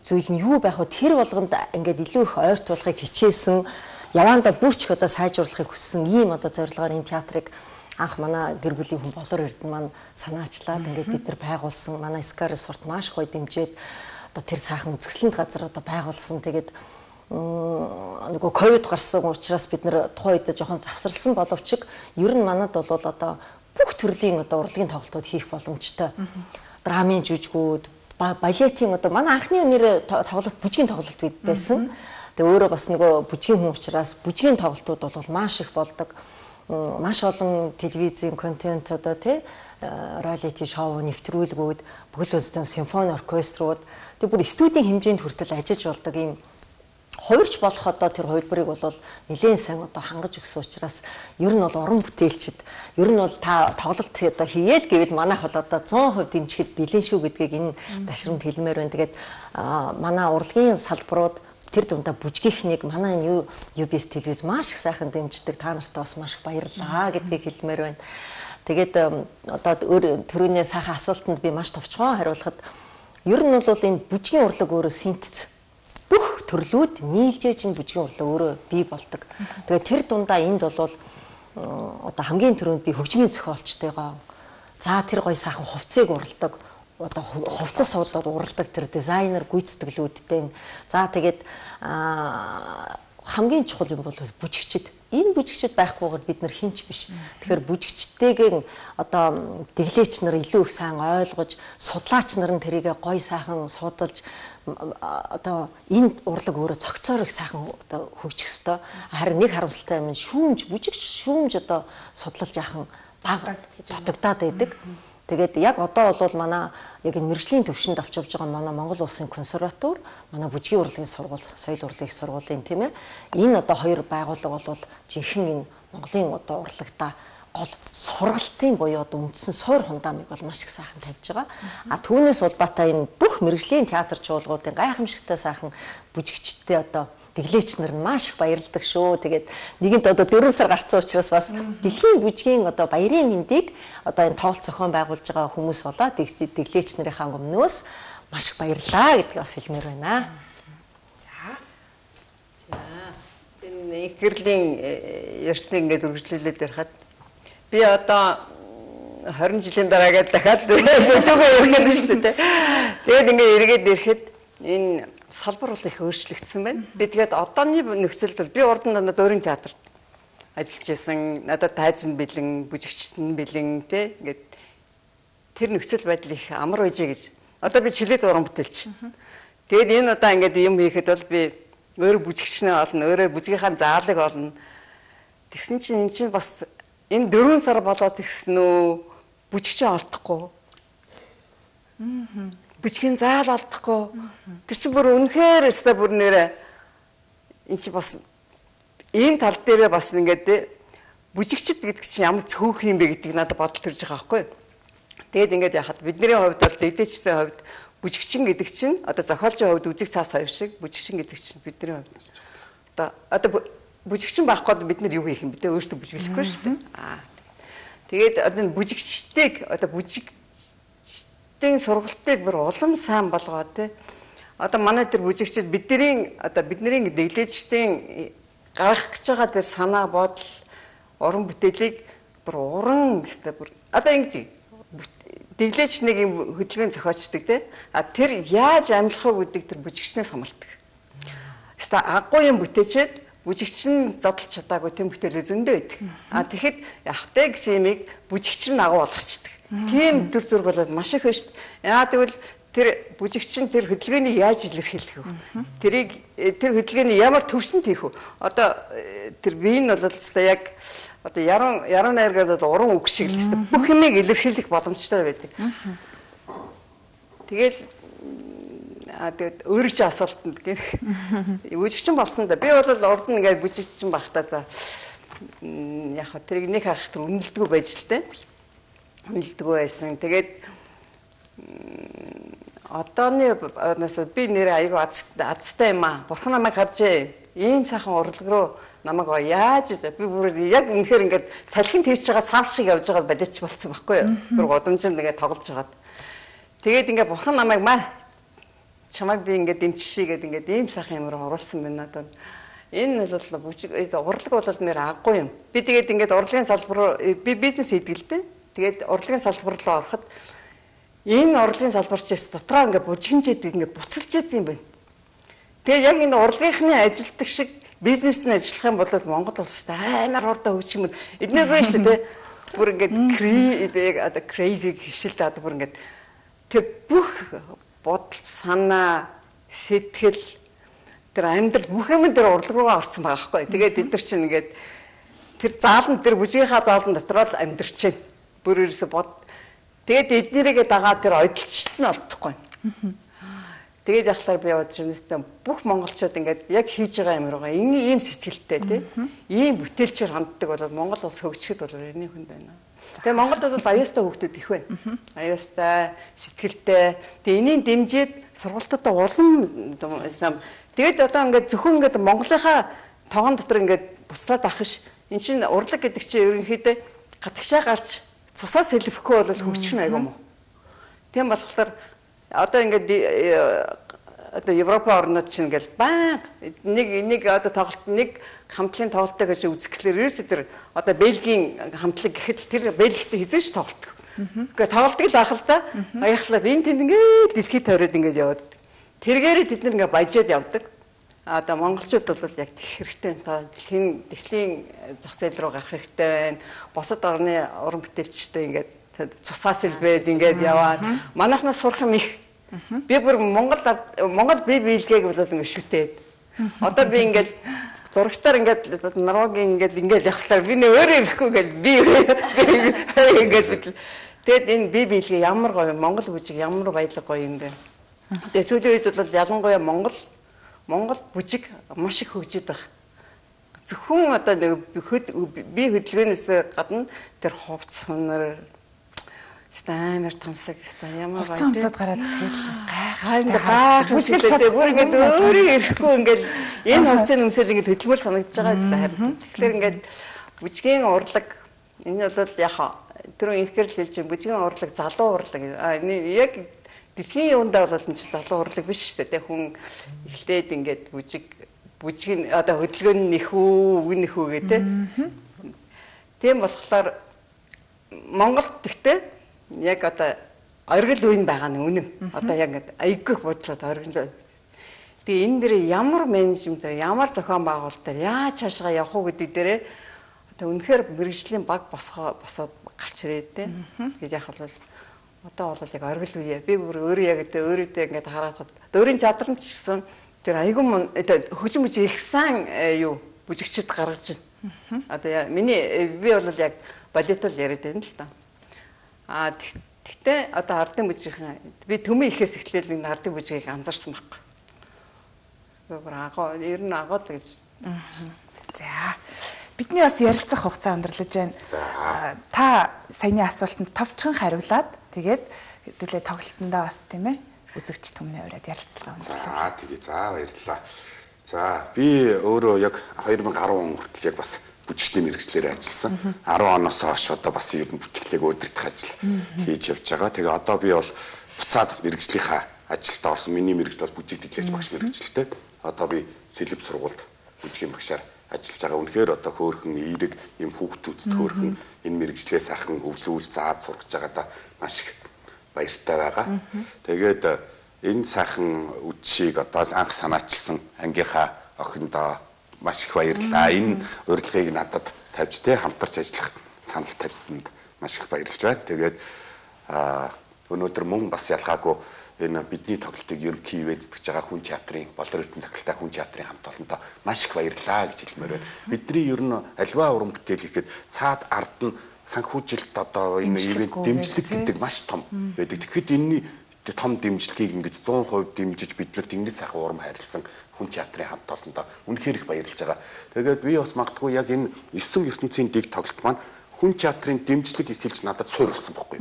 зүйл нь юу байх вэ? Тэр болгонд ингээд илүү их ойртуулахыг хичээсэн яваандаа бүрч одоо сайжруулахыг хүссэн ийм одоо зорилгоор энэ театрыг анх манай гэр бүлийн хүн Болор Эрдэнэ маань санаачлаад ингээд бид нар байгуулсан. Манай Скар сурт маш гоё дэмжиж одоо тэр сайхан үзэсгэлэнт газар одоо байгуулсан. Тэгээд нөгөө ковид гарсан учраас бид нэр тухайн үед жоохон завсарлсан боловч ер нь манад бол одоо бүх төрлийн одоо урлагийн тоглолтууд хийх боломжтой. Драмын жүжигүүд, балетийн одоо манай анхны нэр тоглолт бүжгийн тоглолт байсан. Тэгээ өөрөө бас нөгөө бүжгийн хүн учраас бүжгийн тоглолтууд бол маш их болдог. Маш олон телевизийн контент одоо тий реалити шоу нэвтрүүлгүүд, бүхэл үндэстэн симфони оркеструуд тэг бүр студийн хэмжээнд хүртэл ажиллаж болдог ийм хувирч болох одоо тэр хувилбарыг бол нэлээд сайн одоо хангаж өгсөн учраас ер нь бол уран бүтээлчд ер нь бол та тоглолт одоо хийгээд гэвэл манайх бол одоо 100% дэмжихэд бэлэн шүү гэдгийг энэ ташрамд хэлмээр байна. Тэгээд манай урлагийн салбарууд тэр дундаа бүжгийнхнийг манай энэ UBS телевиз маш их сайхан дэмждэг. Та нартай бас маш их баярлалаа гэдгийг хэлмээр байна. Тэгээд одоо түрүүний сайхан асуултанд би маш товчхон хариулахад ер нь бол энэ бүжгийн урлаг өөрөө синтез бүх төрлүүд нийлжээж энэ бүжгийн урлаг өөрөө бий болдог. Тэгээд тэр дундаа энд бол одоо хамгийн түрүүнд би хөгжмийн зохиолчтойгоо за тэр гоё сайхан хувцсыг уралдаг одоо хувцас суудаад уралдаг тэр дизайнер гүйцэтгэлүүдтэй. За тэгээд хамгийн чухал юм бол бүжигчд. Энэ бүжигчд байхгүйгээр бид нар хинч биш. Тэгэхээр бүжигчдтэйгээ одоо дэглээч нар илүү их сайн ойлгож, судлаач нар нь тэрийг гоё сайхан судалж одоо энэ урлаг өөрөө цогцоор их сайхан одоо хөгжих ёстой. Харин нэг харамсалтай юм шүүмж бүжигч шүүмж одоо судлалж яахан баг дутагдаад байдаг. Тэгээд яг одоо бол манай яг энэ мэргэжлийн төвшөнд авч явж байгаа манай Монгол Улсын консерватор, манай бүжгийн урлагийн сургууль, соёл урлагийн сургуулийн тийм ээ. Энэ одоо хоёр байгууллага бол жинхэнэ энэ Монголын одоо урлагта гол сургалтын буюу одоо үндсэн суур хундамыг бол маш их сайхан тавьж байгаа. А түүнээс улбаатай энэ бүх мэргэжлийн театр чуулгуудын гайхамшигтай сайхан бүжигчдтэй одоо дэглээч нар нь маш их баярлдаг шүү. Тэгээд нэгэнт одоо 4 сар гарсан учраас бас дэлхийн бүжгийн одоо баярын мэндийг одоо энэ тоглолт зохион байгуулж байгаа хүмүүс болоод дэглээч нарынхаа өмнөөс маш их баярлалаа гэдгийг бас хэлмээр байна. За. Энэ их гэрлийн ярьсныг ингээд үргэлжлүүлээд ярихад би одоо 20 жилийн дараа гээд дахиад дүүгээ ярих гэдэг шүү дээ. Тэгээд ингээд эргээд ирэхэд энэ салбар бол их өөрчлөгдсөн байна. Би тэгээд одооны нөхцөлд бол би урд нь дөрвөн театрт ажиллаж байсан. Надад тайзан бэлэн, бүжигчт нь бэлэн тий ингээд тэр нөхцөл байдал их амар байжээ гэж. Одоо би чөлөөт уран бүтээлч. Тэгээд энэ удаа ингээд юм хийхэд бол би өөрөө бүжигчнээ олно, өөрөө бүжгийнхаа заалыг олно. Тэгсэн чинь эн чинь бас энэ 4 сар болоод тэгсэн үү бүжигчээ олдохгүй. Бүжгийн заал алдахгүй. Тэр чинь бүр үнэхээр өстой бүр нэрэ энэ чи бас энэ тал дээрээ бас ингээд бүжигчд гэдэг чинь ямар цөөх юм бэ гэдгийг надад бодол төрж байгаа байхгүй. Тэгээд ингээд яхад бидний хувьд бол дэдээчдийн хувьд бүжигчин гэдэг чинь одоо зохиолчийн хувьд үзэг цаас хоёр шиг бүжигчин гэдэг чинь бидний хувьд одоо бүжигчин байхгүй бид нар юу хийх юм бэ? Өөрсдөө бүжиглэхгүй шүү дээ. Тэгээд одоо бүжигчдийг одоо бүжигчдийн сургалтыг бүр улам сайн болгоод тий одоо манай тэр бүжигчид бидний дэглээчдийн гаргах гэж байгаа тэр санаа бодол уран бүтээлийг бүр уран гэстэй бүр одоо ингэдэг дэглээч нэг юм хөдөлгөөн зохиочдөг те тэр яаж амьлах вэ гэдэг тэр бүжигчнээс хамаардаг. Хэвээ агуу юм бүтээчээд бүжигч нь задлж чадаагүй тийм бүтээлээ зөндөө байдаг. Тэгэхэд явахтай гэсэн юмыг бүжигч нь агуу болгочдөг. Тийм төр зүрг болоод маш их байна шүү дээ. Яа тэгвэл тэр бүжигч нь тэр хөдөлгөөнийг яаж илэрхийлэх вэ? Тэр хөдөлгөөний ямар төвсөнд хийх вэ? Одоо тэр биеийн бол яг одоо яруу найргаад уран үг шиг л хэвээр бүх юмыг илэрхийлэх боломжтой байдаг. Тэгээд өөрөө чи асуултанд гэх бүжигчин болсон да. Би бол урд нь ингээд бүжигчин багтаа за яг хаа тэрийг нэг хах тэр үнэлдэггүй байж л те. Үнэлдэггүй байсан. Тэгээд одооны би нэр аягүй азтай юм аа. Бурхан намайг харжээ. Ийм сайхан урлаг руу намайг яаж би бүр яг үнэхээр ингээд салхин тийж байгаа цааш шиг явж байгаа бодож болцсон байхгүй юу? Бүр годомжинд ингээд тоглож байгаад. Тэгээд ингээд бурхан намайг чамайг би ингээд дэмжишээгээд ингээд ийм сайхан юм руу оруулсан байна надад. Энэ бол урлаг бол нэр аггүй юм. Би тэгээд ингээд урлагийн салбар би бизнес хийдэг л дээ. Тэгээд урлагийн салбар руу ороход энэ урлагийн салбарчээс дотроо ингээд бужигнжээд ингээд буцалж яадаг юм байна. Тэгээд яг энэ урлагийнхны ажилтдаг шиг бизнес нь ажиллах юм бол Монгол улсад амар хурдан хөгжих юм. Эдгээр байна шүү дээ. Бүр ингээд crazy хишэлт одоо бүр ингээд тэр бүх бодол, санаа, сэтгэл тэр амьдрал бүх юм дээр урлаг руугаа орсон байгаа байхгүй. Тэгээд эдгээр чинь ингээд тэр заалан тэр бүжгийнхаа заалан дотор л амьдрч байна. Бүр ерөөсө тэгээд эднэрийгээ дагаад тэр ойдлчт нь олдохгүй. Тэгээд яхалаар би яваад шинэстэй бүх монголчууд ингээд яг хийж байгаа юм руугаа ийм сэтгэлтэй тий. Ийм бүтээлчээр ханддаг бол Монгол улс хөгжихэд бол эртний хүнд байна. Тэгээ Монголд бол аяастай хүүхдүүд их байна. Аяастай, сэтгэлтэй. Тэгээ энийг дэмжиж сургалтуудаа улам тэгээд одоо ингээд зөвхөн ингээд Монголынхаа тоон дотор ингээд буслаад авах ш. Энд чинь урлаг гэдэг чинь ерөнхийдөө гадагшаа гарч цусаа сэлбэхгүй бол хөгжих нь айгүй юм. Тийм болохоор одоо ингээд одоо Европ орнууд чинь ингээл баян нэг одоо тоглолт нэг хамтлагийн тоглолттой гэж үзэхлээр ерөөсөө тэр одоо Бельгийн хамтлаг гэхэд тэр Бельгтэй хизээш тоглолт. Гэхдээ тоглолтыг л ахал та аяхлаад энэ тэнд ингээд дэлхийд тойроод ингээд яваад. Тэргээрээ тэд нэг ингээд баяжаад явдаг. Одоо монголчууд бол яг тех хэрэгтэй байна. Дэлхийн зах зээл рүү гарах хэрэгтэй байна. Босод орны уран бүтээлчтэй ингээд цусаа сэлбээд ингээд яваад манайхнаас сурах юм их. Би бүр Монгол бие биелгээг бол ингээд шүтээд. Одоо би ингээд зурагтаар ингээд Норвегийн ингээд явахлаар би нэ өөрөө ирэхгүй ингээд би ингээд тэгээд энэ бие биелгээ ямар гоё Монгол бүжиг ямар баялаг гоё юм бэ. Тэгээд сүүлийн үед бол ялангуяа Монгол бүжиг маш их хөгжиж байгаа. Зөвхөн одоо би хөдөлгөөнөөс гадна тэр хувц хонор стамер тансаг ямар баяр. Хувцсад гараад ирэхэд гайхалтай бүр ингээд өөрөө ирэхгүй ингээд энэ хувцын өмсөл ингээд хөдөлмөр санагдаж байгаа юм харин. Тэгэхээр ингээд бүжгийн урлаг энэ бол яг түрүү инхээр л хэлж бүжгийн урлаг залуу урлаг яг дэлхийн юундаа бол энэ залуу урлаг биш шүү дээ. Хүн эхлээд ингээд бүжгийн одоо хөдөлгөөн нэх үү үгүй нэх үү гэдэг. Тийм болохоор Монгол гэхдээ яг одоо оргил үеийн байгаа нь үнэн. Одоо яг ингээд аяггүй бодлоод оргил. Тэгээ энэ дээр ямар менежмент ямар зохион байгуулалт яаж цаашгаа явах уу гэдэг дээрээ одоо үнэхээр мэрэгжлийн баг босоод гарч ирээд те. Тэгээд яг бол одоо бол яг оргил үе. Би бүр өөрөө яг өөрөөдөө ингээд хараад өөрийн задран ч гэсэн тэр аяггүй хөгжим бүжиг ихсэн юу бүжигчд гаргаж байна. Одоо би бол яг балетол яриад байна л та. Тэгтээ одоо ардын бүжигхэн би төмөн ихээс эхлээл энэ ардын бүжгийг анзаарсан байхгүй. Ер нь агууд гэж. За. Бидний бас ярилцах хугацаа өндөрлөж байна. Та саяны асуултанд товчхон хариулаад тэгээд хэдүүлээ тоглолтондоо бас тийм ээ үзэгч түмний ураад ярилцлага өндөрлөө. Тэгээ баярлалаа. За би өөрөө яг 2010 он хүртэл яг бас бүжигчдийн мэргэжлээр ажилласан. 10 оноос хойш одоо бас ер нь бүжиглээг өдөртөх ажил хийж явж байгаа. Тэгээ одоо би бол буцаад мэргэжлийнхаа ажилдаа орсон. Миний мэрэгжил бол бүжиг дэглэж багш мэрэгжилтэй. Одоо би сэлб сургуульд бүжгийн багшаар ажиллаж байгаа. Үнэхээр одоо хөөрхөн эерэг юм хүүхдүүдэд хөөрхөн энэ мэрэгжлээ сайхан өвлүүл заад сургаж байгаадаа маш их баяртай байгаа. Тэгээд энэ сайхан үдшийг одоо анх санаачилсан ангийнхаа охиндоо маш их баярлалаа. Энэ урилгыг надад тавьж хамтарч ажиллах санал тавьсанд маш их баярлж байна. Тэгээд өнөөдөр мөн бас ялгаагүй энэ бидний тоглолтыг ерөнхий ивэд гэж байгаа хүн театрын болор эрдэнэ цагтаа хүн театрын хамт олондоо маш их баярлалаа гэж хэлмээр байна. Бидний ер нь альва уран бүтээл хийхэд цаад ард нь санхүүжилт одоо энэ ивент дэмжлэг гэдэг маш том байдаг. Тэгэхэд энэний том дэмжлэгийг ингэж 100% дэмжиж биднэрт ингэж сайхан урам хайрлсан хүн театрын хамт олондоо үнэхээр их баярлж байгаа. Тэгээд би бас магадгүй яг энэ 9 ертөнцийн дэг тоглолт маань хүн театрын дэмжлэг ихэлж надад суур болсон байхгүй.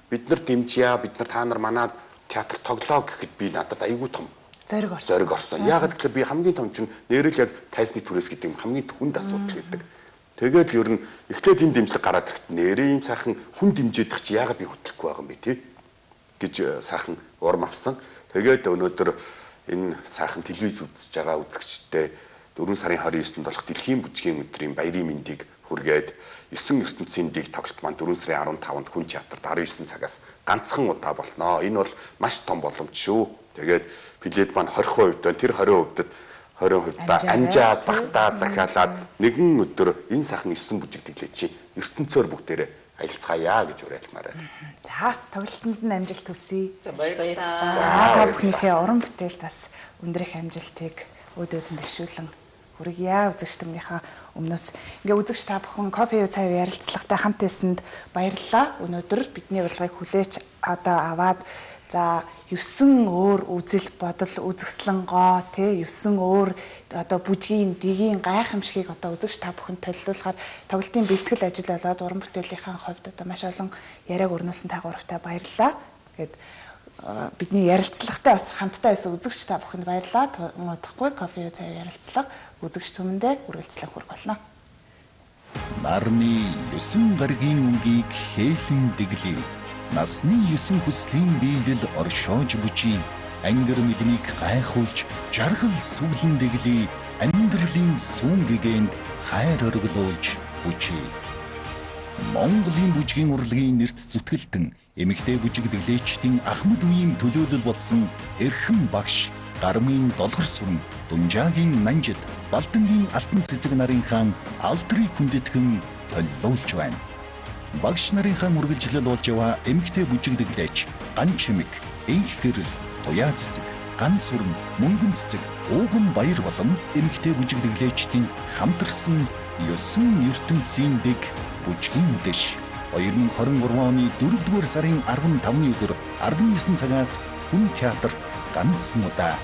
Бид нар дэмжье, бид нар та нар манад театр тоглоо гэхэд би надад айгүй том зориг орсон. Яагаад гэвэл би хамгийн том чинь нэрэл яг тайсны түрээс гэдэг юм хамгийн хүнд асуудал гэдэг. Тэгээд л ер нь эхлээд энэ дэмжлэг гараад ирэхэд нэрээ юм сайхан хүн дэмжээдэх чи яагаад би хөтлөхгүй байгаа юм бэ тий гэж сайхан урам авсан. Тэгээд өнөөдөр энэ сайхан телевиз үзэж байгаа үзэгчдээ 4 сарын 29-нд болох дэлхийн бүжгийн өдрийн баярын мэндийг хүргээд 9 ертөнцийн дэг тоглолт маань 4 сарын 15-нд хүн театрт 19 цагаас ганцхан удаа болно. Энэ бол маш том боломж шүү. Тэгээд билет маань 20% байна. Тэр 20%-д амжаад багтаа захиалаад нэгэн өдөр энэ сайхан 9 бүжиг дэглээ чи ертөнцөөр бүгдээрээ аялцгаая гэж уриалмаар байна. За, тоглолтод нь амжилт хүсье. Баярлалаа. За, бүхнийхээ уран бүтээлд бас өндрөх амжилтыг өдөөдөн дэвшүүлэн хүргье. Үзэгчдийнхээ өмнөөс ингээ үзэгч та бүхэн кофе цай ярилцлагатай хамт байсанд баярлалаа. Өнөөдөр бидний урилгыг хүлээж одоо аваад за 9 өөр үзэл бодол үзэсгэлэнгоо тий 9 өөр одоо бүжгийн дэгийн гайхамшигыг одоо үзэгч та бүхэнд төлөвлөхөөр тоглолтын бэлтгэл ажил болоод уран бүтээлийнхаа хувьд одоо маш олон яриаг өрнүүлсэн тагуурвтай баярлалаа. Гэт бидний ярилцлагатай бас хамтдаа байсан үзэгч та бүхэнд баярлалаа. Муудахгүй кофе цай ярилцлага үзэгч түмэндээ үргэлжлэх хүрг болно. Нарны 9 гаригийн өнгийг хээлэн дэглэе. Насны 9 хүслийн биелэл оршоож бүжий. Ангар мэлмиг гайхуулж жаргал сүглэн дэглэе. Амьдралын сүүн гэгэнд хайр оргилуулж бүжий. Монголын бүжгийн урлагийн нэрт зүтгэлтэн эмэгтэй бүжиг дэглэгчдийн Ахмад үеийн төлөөлөл болсон эрхэм багш Гармын Долгор сүрэн Дунжаагийн Нанжид Балдангийн Алтан цэцэг нарын хаан алдрыг хүндэтгэн төлөөлж байна. Багш нарынхаа үргэлжлэл болж яваа эмэгтэй бүжиг дэглэгч Ган чимэг, энх гэрэл, туяа цэцэг, ган сүрэн, мөнгөн цэцэг, ууган баяр болон эмэгтэй бүжиг дэглэгчдийн хамтарсан 9 ертөнцийн дэг бүжгийн дэш 2023 оны 4-р сарын 15-ны өдөр 19 цагаас хүн театрт ганц удаа